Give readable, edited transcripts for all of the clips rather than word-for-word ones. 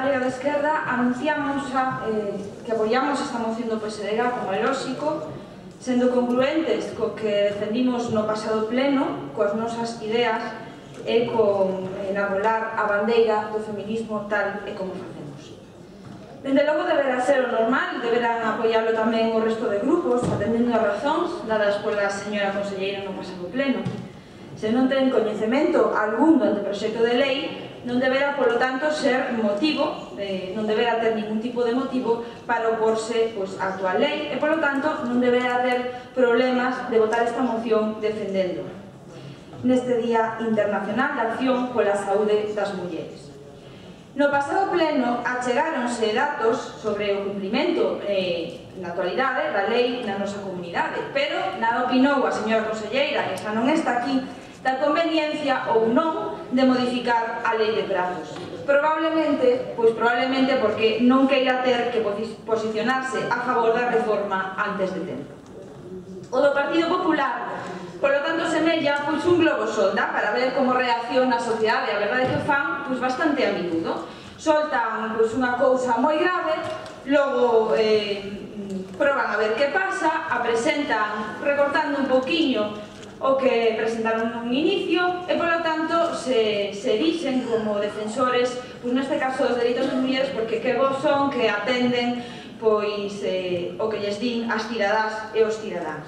Galega de Esquerda anunciamos que apoiamos esta moción do PSDG, como é lóxico, sendo congruentes co que defendimos no pasado pleno, coas nosas ideas e con enarbolar a bandeira do feminismo tal e como facemos. Dende logo deberá ser o normal, deberán apoiarlo tamén o resto de grupos, atendendo as razóns dadas pola señora conselleira no pasado pleno. Se non ten coñecemento algún do anteproxecto de lei, non deberá, polo tanto, ser motivo, non deberá ter ningún tipo de motivo para oporse á actual lei e, polo tanto, non deberá ter problemas de votar esta moción defendendo neste Día Internacional de Acción pola Saúde das Mulleres. No pasado pleno achegáronse datos sobre o cumprimento na actualidade da lei na nosa comunidade, pero nada opinou a señora conselleira, que xa non está aquí, da conveniencia ou non de modificar a lei de prazos. Probablemente porque non queira ter que posicionarse a favor da reforma antes de tempo. O do Partido Popular, polo tanto, semella un globo sonda para ver como reacciona a sociedade. A verdade é que o fan bastante a miúdo. Soltan unha cousa moi grave, logo proban a ver que pasa, a presentan recortando un poquinho o que presentaron nun inicio e, polo tanto, se erixen como defensores, neste caso, dos dereitos das mulleres, porque que vos son que atenden o que lles din as cidadás e os cidadáns.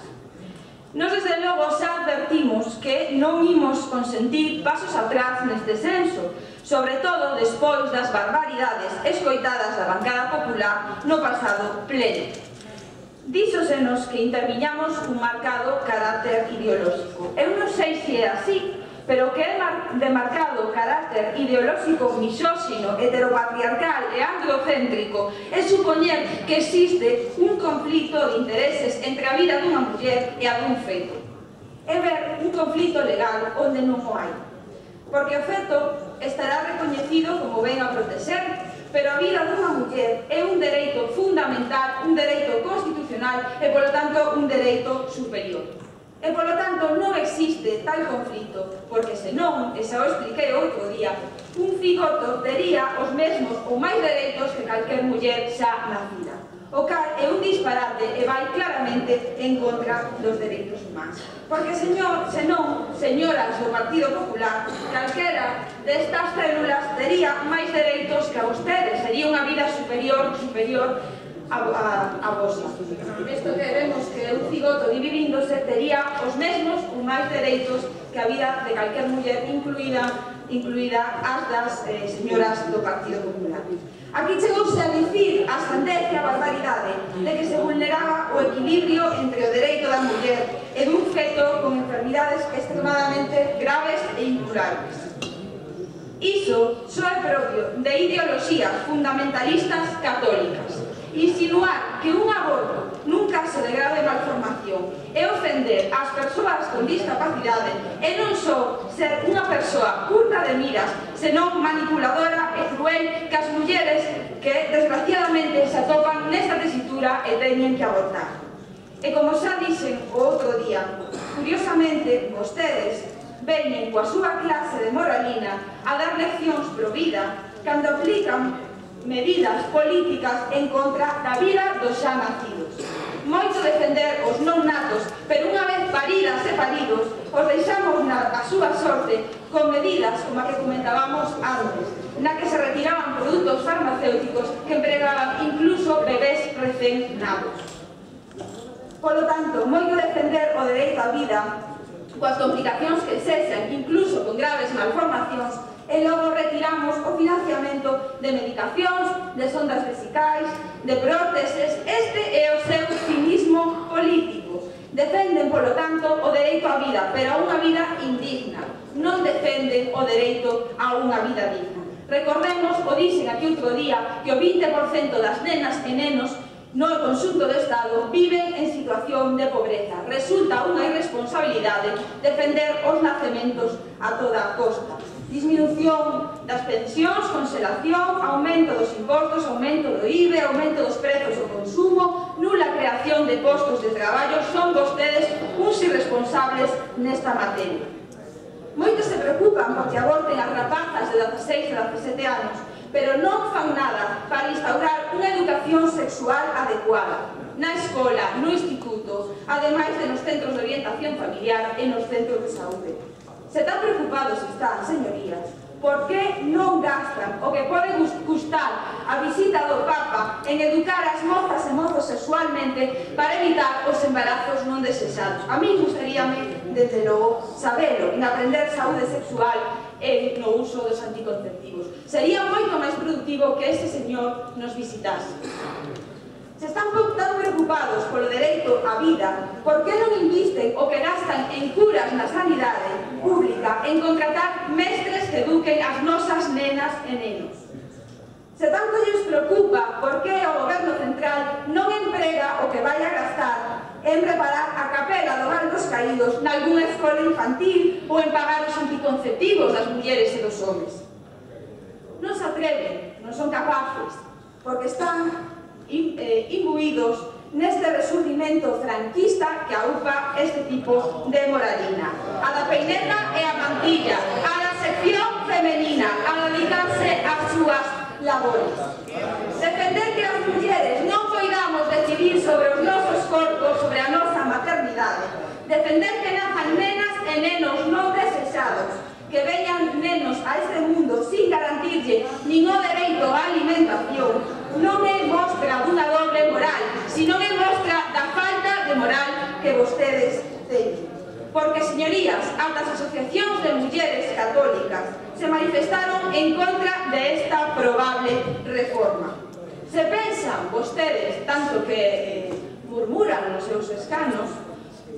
Nos, desde logo, xa advertimos que non imos consentir pasos atrás neste senso, sobre todo despois das barbaridades escoitadas da bancada popular no pasado pleno. Díxosenos que interviñamos un marcado carácter ideolóxico. Eu non sei se é así, pero que é de marcado carácter ideolóxico, misóxino, heteropatriarcal e androcéntrico é supoñer que existe un conflito de intereses entre a vida dunha muller e a dun feto. É ver un conflito legal onde non o hai. Porque o feto estará recoñecido como ben a proteger, pero a vida dunha muller é un dereito fundamental, un dereito constitucional e, polo tanto, un dereito superior. E, polo tanto, non existe tal conflito, porque senón, e xa o expliquei outro día, un cigoto tería os mesmos ou máis dereitos que calquer muller xa nacida. O cal é un disparate e vai claramente en contra dos dereitos humanos. Porque senón, señoras do Partido Popular, calquera destas células tería máis dereitos que a vostedes, sería unha vida superior a vosa. Isto que vemos que un cigoto dividíndose tería os mesmos ou máis dereitos que a vida de calquer muller, incluída as das señoras do Partido Popular. Aquí chegouse a dicir a sandecia barbaridade de que se vulneraba o equilibrio entre o dereito da muller e dun feto con enfermidades extremadamente graves e incurables. Iso só é propio de ideoloxías fundamentalistas católicas. Insinuar que un aborto nun caso de grave malformación é ofender ás persoas con discapacidade e non só ser unha persoa curta de miras, senón manipuladora e cruel que as mulleres que desgraciadamente se atopan nesta tesitura e teñen que abortar. E como xa dixen o outro día, curiosamente, vostedes veñen coa súa clase de moralina a dar leccións pro vida cando aplican medidas políticas en contra da vida dos xa nacidos. Moito defender os non natos, pero unha vez paridas e paridos, os deixamos a súa sorte con medidas como a que comentábamos antes, na que se retiraban produtos farmacéuticos que empregaban incluso bebés recén nados. Polo tanto, moito defender o dereito á vida, coas complicacións que sexan, incluso con graves malformacións, e logo retiramos o financiamento de medicacións, de sondas vesicais, de próteses. Este é o seu cinismo político. Defenden, polo tanto, o dereito á vida, pero a unha vida indigna. Non defenden o dereito a unha vida digna. Recordemos, o dixen aquí outro día, que o 20% das nenas e nenos no conxunto do Estado viven en situación de pobreza. Resulta unha irresponsabilidade defender os nacementos a toda a costa. Disminución das pensións, conselación, aumento dos impostos, aumento do IVE, aumento dos prezos do consumo, nula creación de postos de traballo, son vostedes uns irresponsables nesta materia. Moitos se preocupan porque aborten as rapazas de 16 e 17 anos, pero non fan nada para instaurar unha educación sexual adecuada na escola, no instituto, ademais de nos centros de orientación familiar e nos centros de saúde. Se tan preocupados están, señorías, por que non gastan o que pode custar a visita do Papa en educar as mozas e mozos sexualmente para evitar os embarazos non desexados? A mí gustaríame, desde logo, sabelo en aprender saúde sexual e no uso dos anticonceptivos. Sería moito máis productivo que este señor nos visitase. Se están tan preocupados polo dereito á vida, por que non invisten o que gastan en curas na sanidade pública en contratar mestres que eduquen as nosas nenas e nenos? Se tanto lles preocupa por que o goberno central non emprega o que vai a gastar en preparar a capela do Val dos Caídos nalgúna escola infantil ou en pagar os anticonceptivos das mulleres e dos homes. Non se atreven, non son capaces, porque están imbuídos neste resurgimento franquista que aupa este tipo de moralina. A da peineta e a mantilla, a da sección femenina, a dedicarse ás súas labores. Defender que as mulleres non poidamos decidir sobre os nosos corpos, sobre a nosa maternidade. Defender que nazan nenas e nenos non desexados, que veñan nenos a este mundo sin garantirlle nin o dereito á alimentación, non é mostra dunha doble moral, sino é mostra da falta de moral que vostedes teñen. Porque, señorías, ata as asociacións de mulleres católicas se manifestaron en contra de esta probable reforma. Se pensan vostedes, tanto que murmuran nos seus escanos,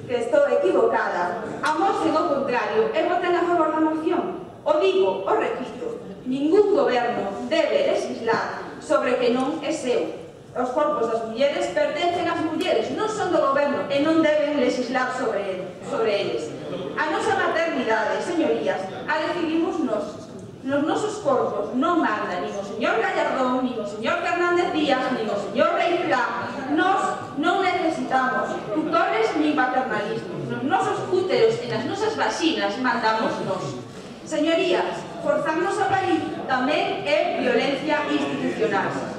que estou equivocada, amosen o contrario e voten a favor da moción. O digo, o repito, ningún goberno debe legislar sobre que non é seu. Os corpos das mulleres pertencen ás mulleres, non son do goberno e non deben legislar sobre eles. A nosa maternidade, señorías, a decidimos nos. Nos nosos corpos non manda nin o señor Gallardón, nin o señor Fernández Díaz, nin o señor Rei Fla. Nos non necesitamos tutores nin paternalismos. Nos nosos úteros e nas nosas vaxinas mandamos nos. Señorías, forzarnos a parir tamén é violencia institucional.